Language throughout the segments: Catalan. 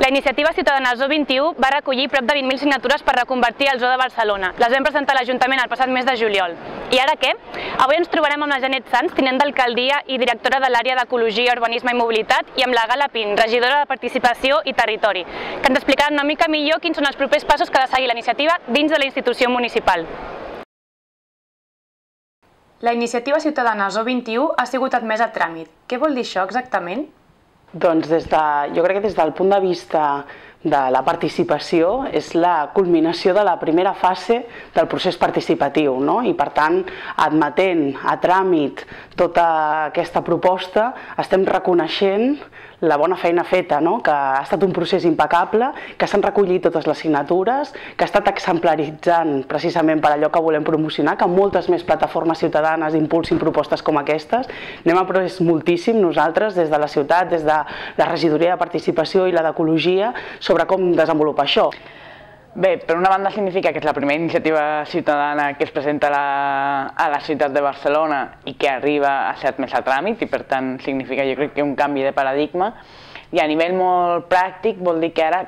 La iniciativa ciutadana Zoo 21 va recollir prop de 20.000 signatures per reconvertir el Zoo de Barcelona. Les vam presentar a l'Ajuntament el passat mes de juliol. I ara què? Avui ens trobarem amb la Janet Sanz, tinent d'alcaldia i directora de l'àrea d'Ecologia, Urbanisme i Mobilitat, i amb la Gala Pin, regidora de Participació i Territori, que ens explicaran una mica millor quins són els propers passos que ha de seguir la iniciativa dins de la institució municipal. La iniciativa ciutadana Zoo 21 ha sigut admesa a tràmit. Què vol dir això exactament? Doncs jo crec que des del punt de vista de la participació és la culminació de la primera fase del procés participatiu, no? I per tant, admetent a tràmit tota aquesta proposta, estem reconeixent la bona feina feta, no? Que ha estat un procés impecable, que s'han recollit totes les signatures, que ha estat exemplaritzant precisament per allò que volem promocionar, que moltes més plataformes ciutadanes impulsin propostes com aquestes. N'hem après moltíssim nosaltres des de la ciutat, des de la regidoria de participació i la d'ecologia, sobre com desenvolupar això. Bé, per una banda significa que és la primera iniciativa ciutadana que es presenta a la ciutat de Barcelona i que arriba a ser admesa a tràmit i per tant significa jo crec que un canvi de paradigma i a nivell molt pràctic vol dir que ara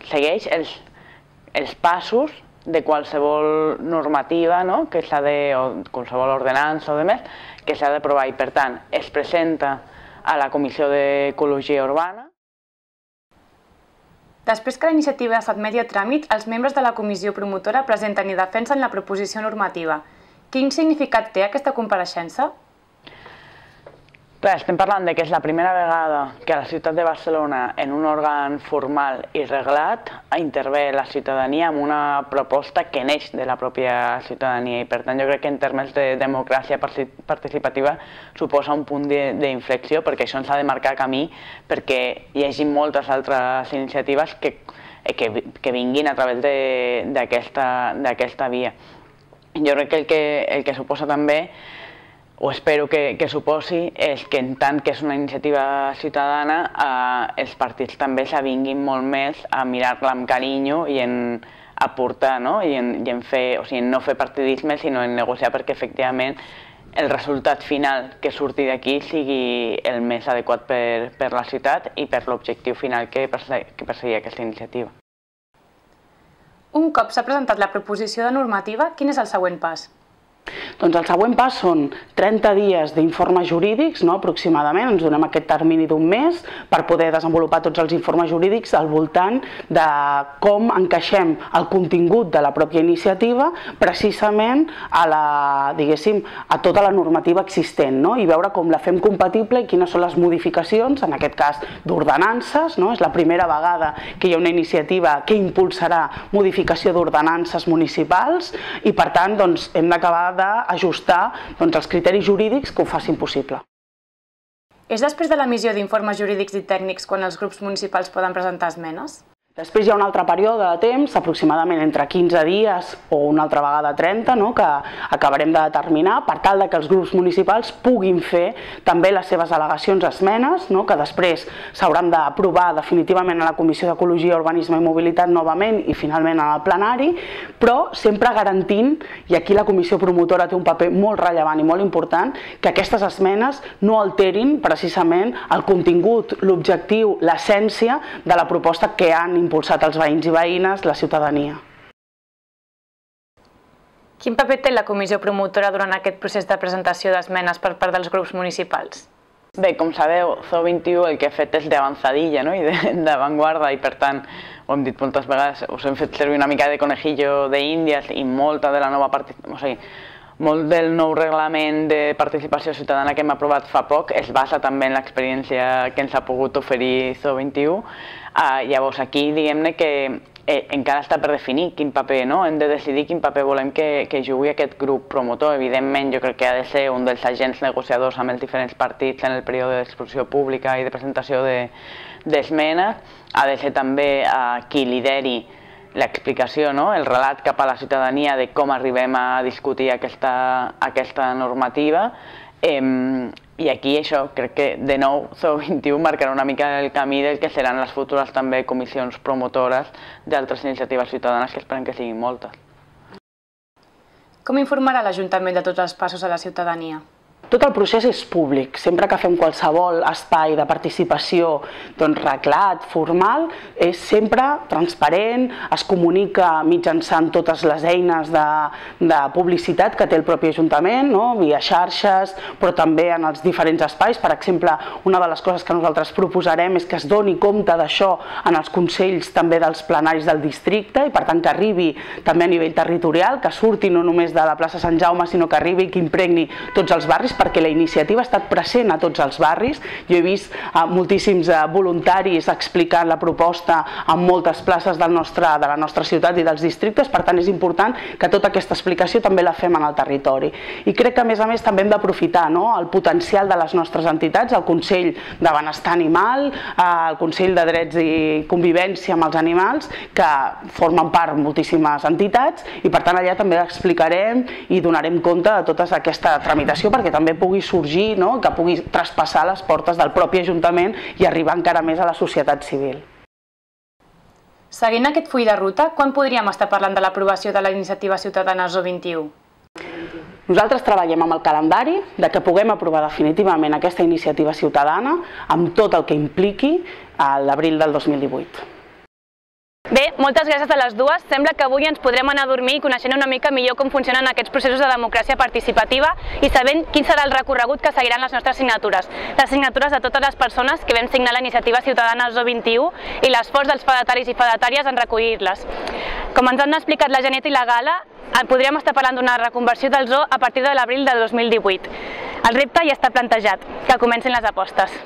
segueix els passos de qualsevol normativa, no? Que s'ha de, o qualsevol ordenança o demés, que s'ha d'aprovar i per tant es presenta a la Comissió d'Ecologia Urbana. Després que la iniciativa s'admeti a tràmit, els membres de la comissió promotora presenten i defensen la proposició normativa. Quin significat té aquesta compareixença? Clar, estem parlant que és la primera vegada que a la ciutat de Barcelona, en un òrgan formal i reglat, intervé la ciutadania amb una proposta que neix de la pròpia ciutadania i per tant jo crec que en termes de democràcia participativa suposa un punt d'inflexió perquè això ens ha de marcar camí perquè hi hagi moltes altres iniciatives que vinguin a través d'aquesta via. Jo crec que el que suposa també o espero que suposi és que en tant que és una iniciativa ciutadana els partits també s'avinguin molt més a mirar-la amb carinyo i en aportar, i en fer, o sigui, en no fer partidisme sinó en negociar perquè efectivament el resultat final que surti d'aquí sigui el més adequat per la ciutat i per l'objectiu final que perseguia aquesta iniciativa. Un cop s'ha presentat la proposició de normativa, quin és el següent pas? Doncs el següent pas són 30 dies d'informes jurídics, aproximadament, ens donem aquest termini d'un mes per poder desenvolupar tots els informes jurídics al voltant de com encaixem el contingut de la pròpia iniciativa precisament a tota la normativa existent i veure com la fem compatible i quines són les modificacions, en aquest cas d'ordenances, és la primera vegada que hi ha una iniciativa que impulsarà modificació d'ordenances municipals i per tant hem d'acabar d'ajustar els criteris jurídics que ho facin possible. És després de l'emissió d'informes jurídics i tècnics quan els grups municipals poden presentar esmenes? Després hi ha un altre període de temps, aproximadament entre 15 dies o una altra vegada 30, que acabarem de determinar per tal que els grups municipals puguin fer també les seves al·legacions esmenes, que després s'hauran d'aprovar definitivament a la Comissió d'Ecologia, Urbanisme i Mobilitat novament i finalment al plenari, però sempre garantint, i aquí la comissió promotora té un paper molt rellevant i molt important, que aquestes esmenes no alterin precisament el contingut, l'objectiu, l'essència de la proposta que han impulsat els veïns i veïnes, la ciutadania. Quin paper té la comissió promotora durant aquest procés de presentació d'esmenes per part dels grups municipals? Bé, com sabeu, Zoo 21 el que ha fet és d'avançadilla i d'avantguarda i per tant, ho hem dit moltes vegades, us hem fet servir una mica de conejillo d'Índies i molta de la nova participació, molt del nou reglament de participació ciutadana que hem aprovat fa poc es basa també en l'experiència que ens ha pogut oferir Zoo 21. Llavors aquí diguem-ne que encara està per definir quin paper, hem de decidir quin paper volem que jugui aquest grup promotor. Evidentment jo crec que ha de ser un dels agents negociadors amb els diferents partits en el període d'exposició pública i de presentació d'esmenes. Ha de ser també qui lideri l'explicació, el relat cap a la ciutadania de com arribem a discutir aquesta normativa i aquí això crec que de nou Zoo 21 marcarà una mica el camí del que seran les futures també comissions promotores d'altres iniciatives ciutadanes que esperem que siguin moltes. Com informarà l'Ajuntament de tots els passos a la ciutadania? tot el procés és públic. Sempre que fem qualsevol espai de participació reglat, formal, és sempre transparent, es comunica mitjançant totes les eines de publicitat que té el propi Ajuntament, via xarxes, però també en els diferents espais. Per exemple, una de les coses que nosaltres proposarem és que es doni compte d'això en els consells també dels plenaris del districte i per tant que arribi també a nivell territorial, que surti no només de la plaça Sant Jaume, sinó que arribi i que impregni tots els barris, perquè la iniciativa ha estat present a tots els barris. Jo he vist moltíssims voluntaris explicant la proposta en moltes places de la nostra ciutat i dels districtes, per tant és important que tota aquesta explicació també la fem en el territori. I crec que a més també hem d'aprofitar el potencial de les nostres entitats, el Consell de Benestar Animal, el Consell de Drets i Convivència amb els Animals, que formen part moltíssimes entitats i per tant allà també explicarem i donarem compte de tota aquesta tramitació perquè també pugui sorgir, que pugui traspassar les portes del propi Ajuntament i arribar encara més a la societat civil. Seguint aquest full de ruta, quan podríem estar parlant de l'aprovació de la iniciativa ciutadana Zo 21? Nosaltres treballem amb el calendari de que puguem aprovar definitivament aquesta iniciativa ciutadana amb tot el que impliqui a l'abril del 2018. Bé, moltes gràcies a les dues. Sembla que avui ens podrem anar a dormir coneixent una mica millor com funcionen aquests processos de democràcia participativa i sabent quin serà el recorregut que seguiran les nostres signatures. Les signatures de totes les persones que vam signar la iniciativa ciutadana Zo 21 i l'esforç dels fedataris i fedatàries en recollir-les. Com ens han explicat la Janet i la Gala, podríem estar parlant d'una reconversió del zoo a partir de l'abril del 2018. El repte ja està plantejat, que comencin les apostes.